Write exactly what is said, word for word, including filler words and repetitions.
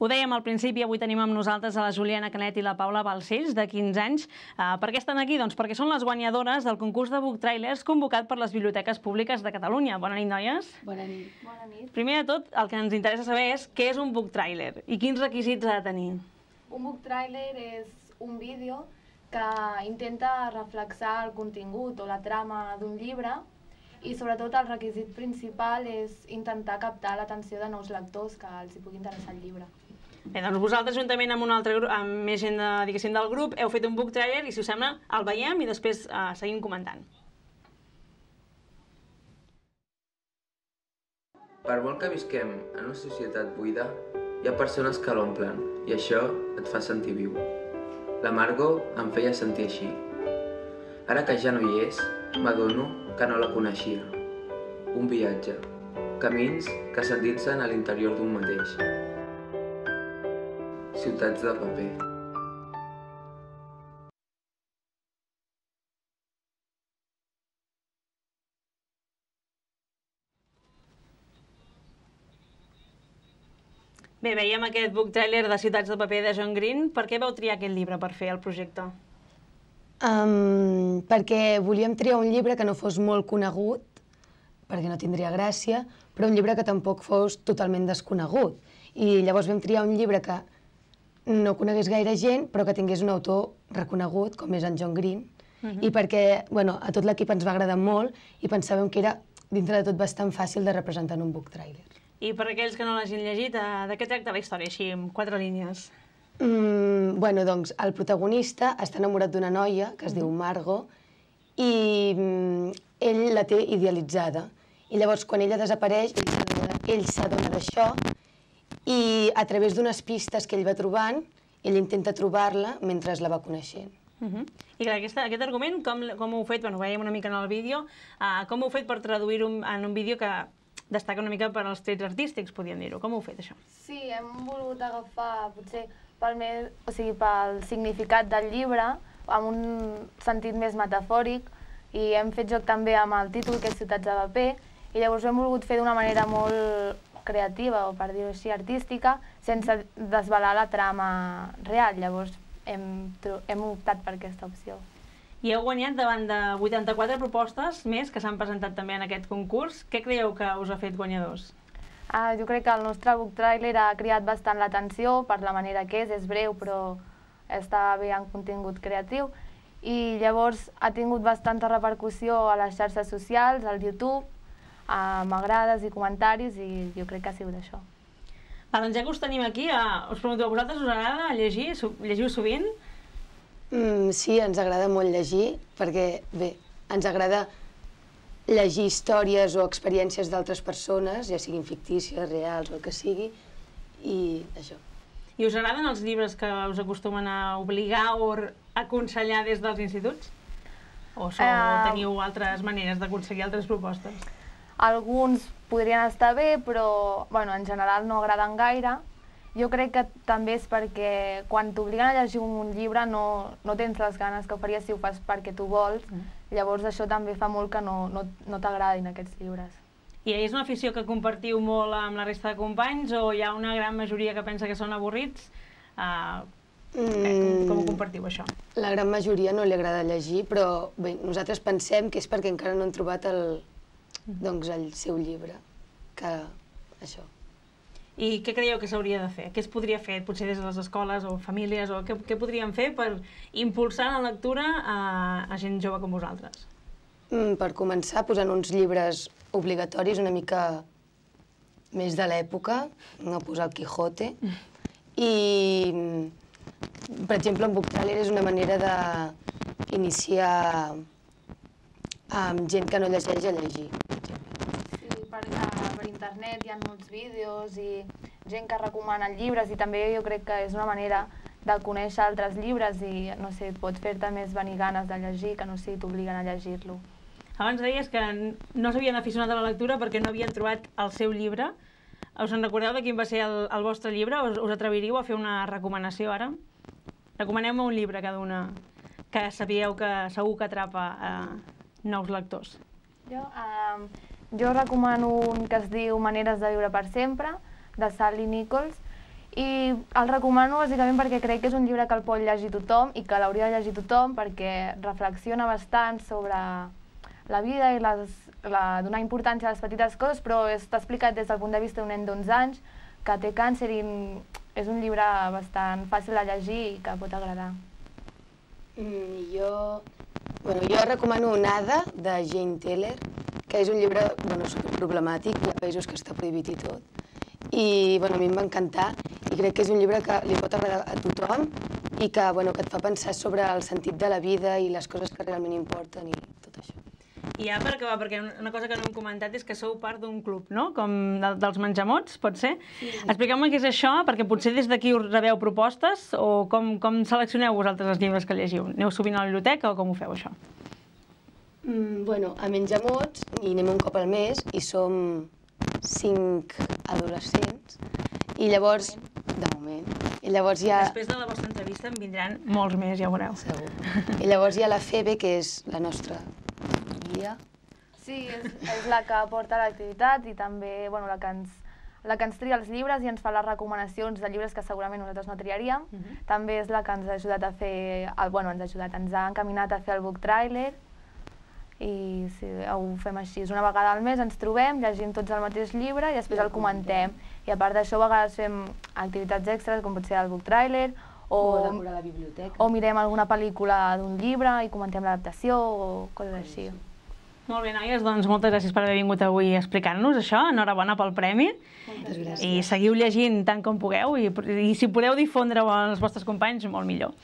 Ho dèiem al principi, avui tenim amb nosaltres a la Juliana Canet i la Paula Balcells, de quinze anys. Per què estan aquí? Doncs perquè són les guanyadores del concurs de book trailers convocat per les biblioteques públiques de Catalunya. Bona nit, noies. Bona nit. Bona nit. Primer de tot, el que ens interessa saber és què és un book trailer i quins requisits ha de tenir. Un book trailer és un vídeo que intenta reflexar el contingut o la trama d'un llibre i sobretot el requisit principal és intentar captar l'atenció de nous lectors que els hi pugui interessar el llibre. Bé, doncs vosaltres, juntament amb un altre grup, amb més gent de, diguéssim, del grup, heu fet un book trailer i, si us sembla, el veiem i després eh, seguim comentant. Per molt que visquem en una societat buida, hi ha persones que l'omplen i això et fa sentir viu. La Margot em feia sentir així. Ara que ja no hi és, m'adono que no la coneixia. Un viatge, camins que s'endinsen a l'interior d'un mateix. Ciutats de paper. Bé, veiem aquest book trailer de Ciutats de paper de John Green. Per què vau triar aquest llibre per fer el projecte? Um, perquè volíem triar un llibre que no fos molt conegut, perquè no tindria gràcia, però un llibre que tampoc fos totalment desconegut. I llavors vam triar un llibre que no conegués gaire gent, però que tingués un autor reconegut, com és en John Green, uh-huh. i perquè bueno, a tot l'equip ens va agradar molt i pensàvem que era, dintre de tot, bastant fàcil de representar en un book trailer. I per aquells que no l'hagin llegit, de què tracta la història, així, en quatre línies? Mm, bueno, doncs, el protagonista està enamorat d'una noia que es diu Margot i mm, ell la té idealitzada. I llavors, quan ella desapareix, ell s'adona d'això i a través d'unes pistes que ell va trobant, ell intenta trobar-la mentre la va coneixent. Uh-huh. I clar, aquesta, aquest argument, com, com ho heu fet? Bueno, ho veiem una mica en el vídeo. Uh, com ho heu fet per traduir-ho en un vídeo que destaca una mica per als trets artístics, podríem dir-ho? Com ho heu fet, això? Sí, hem volgut agafar, potser, pel, més, o sigui, pel significat del llibre, amb un sentit més metafòric, i hem fet joc també amb el títol, que és Ciutats de paper, i llavors ho hem volgut fer d'una manera molt creativa, o per dir-ho així, artística, sense desvelar la trama real. Llavors hem, hem optat per aquesta opció. I heu guanyat davant de vuitanta-quatre propostes més que s'han presentat també en aquest concurs. Què creieu que us ha fet guanyadors? Ah, jo crec que el nostre book trailer ha cridat bastant l'atenció per la manera que és, és breu però està bé en contingut creatiu i llavors ha tingut bastanta repercussió a les xarxes socials, al YouTube, a m'agrades i comentaris i jo crec que ha sigut això. Va, doncs ja que us tenim aquí, uh, us pregunto, a vosaltres us agrada llegir? Llegiu sovint? Mm, sí, ens agrada molt llegir perquè, bé, ens agrada llegir històries o experiències d'altres persones, ja siguin fictícies, reals o el que sigui, i això. I us agraden els llibres que us acostumen a obligar o aconsellar des dels instituts? O so, uh... teniu altres maneres d'aconseguir altres propostes? Alguns podrien estar bé, però bueno, en general no agraden gaire. Jo crec que també és perquè quan t'obliguen a llegir un llibre no, no tens les ganes que ho faries si ho fas perquè tu vols. Mm. Llavors això també fa molt que no, no, no t'agradin aquests llibres. I és una afició que compartiu molt amb la resta de companys o hi ha una gran majoria que pensa que són avorrits? Uh, mm. com, com ho compartiu, això? La gran majoria no li agrada llegir, però bé, nosaltres pensem que és perquè encara no han trobat el, doncs, el seu llibre, que això. I què creieu que s'hauria de fer? Què es podria fer, potser des de les escoles o famílies, o què, què podríem fer per impulsar la lectura a, a gent jove com vosaltres? Mm, per començar, posant uns llibres obligatoris una mica més de l'època, no posar el Quijote, i, per exemple, un book trailer és una manera d'iniciar amb gent que no llegeix a llegir. Per, per internet hi ha molts vídeos i gent que recomana llibres i també jo crec que és una manera de conèixer altres llibres i no sé, et pot fer-te més venir ganes de llegir que no sé, t'obliguen a llegir-lo. Abans deies que no s'havien aficionat a la lectura perquè no havien trobat el seu llibre. Us en recordeu de quin va ser el, el vostre llibre? Us, us atreviríeu a fer una recomanació ara? Recomaneu-me un llibre cada una que sabíeu que segur que atrapa eh, nous lectors. Jo... Um... Jo recomano un que es diu Maneres de viure per sempre, de Sally Nichols, I el recomano bàsicament perquè crec que és un llibre que el pot llegir tothom i que l'hauria de llegir tothom perquè reflexiona bastant sobre la vida i les, la, donar importància a les petites coses, però està explicat des del punt de vista d'un nen d'onze anys que té càncer i és un llibre bastant fàcil de llegir i que pot agradar. Mm, jo, bueno, jo recomano Nada, de Jane Teller, que és un llibre bueno, superproblemàtic, hi ha països que està prohibit i tot. I bueno, a mi em va encantar i crec que és un llibre que li pot agradar a tothom i que, bueno, que et fa pensar sobre el sentit de la vida i les coses que realment importen i tot això. I ja per acabar, perquè una cosa que no hem comentat és que sou part d'un club, no? Com de, dels menjamots, pot ser? Sí. Expliqueu-me què és això, perquè potser des d'aquí us rebeu propostes o com, com seleccioneu vosaltres els llibres que llegiu? Aneu sovint a la biblioteca o com ho feu, això? Mm, bueno, a Menjamots hi anem un cop al mes i som cinc adolescents i llavors, de moment, i llavors hi ha... Després de la vostra entrevista en vindran molts més, ja ho veureu. Segur. I llavors hi ha la Febe, que és la nostra guia. Sí, és, és la que porta l'activitat i també bueno, la, que ens, la que ens tria els llibres i ens fa les recomanacions de llibres que segurament nosaltres no triaríem. Uh -huh. També és la que ens ha ajudat a fer, el, bueno, ens ha ajudat, ens ha encaminat a fer el book trailer i sí, ho fem així. Una vegada al mes ens trobem, llegim tots el mateix llibre i després el comentem. I a part d'això, a vegades fem activitats extres, com pot ser el book trailer, o, o decorar la biblioteca. O mirem alguna pel·lícula d'un llibre i comentem l'adaptació o coses així. Molt bé, noies, doncs moltes gràcies per haver vingut avui a explicar-nos això. Enhorabona pel premi. Moltes gràcies. I seguiu llegint tant com pugueu i, i si podeu difondre-ho als vostres companys, molt millor.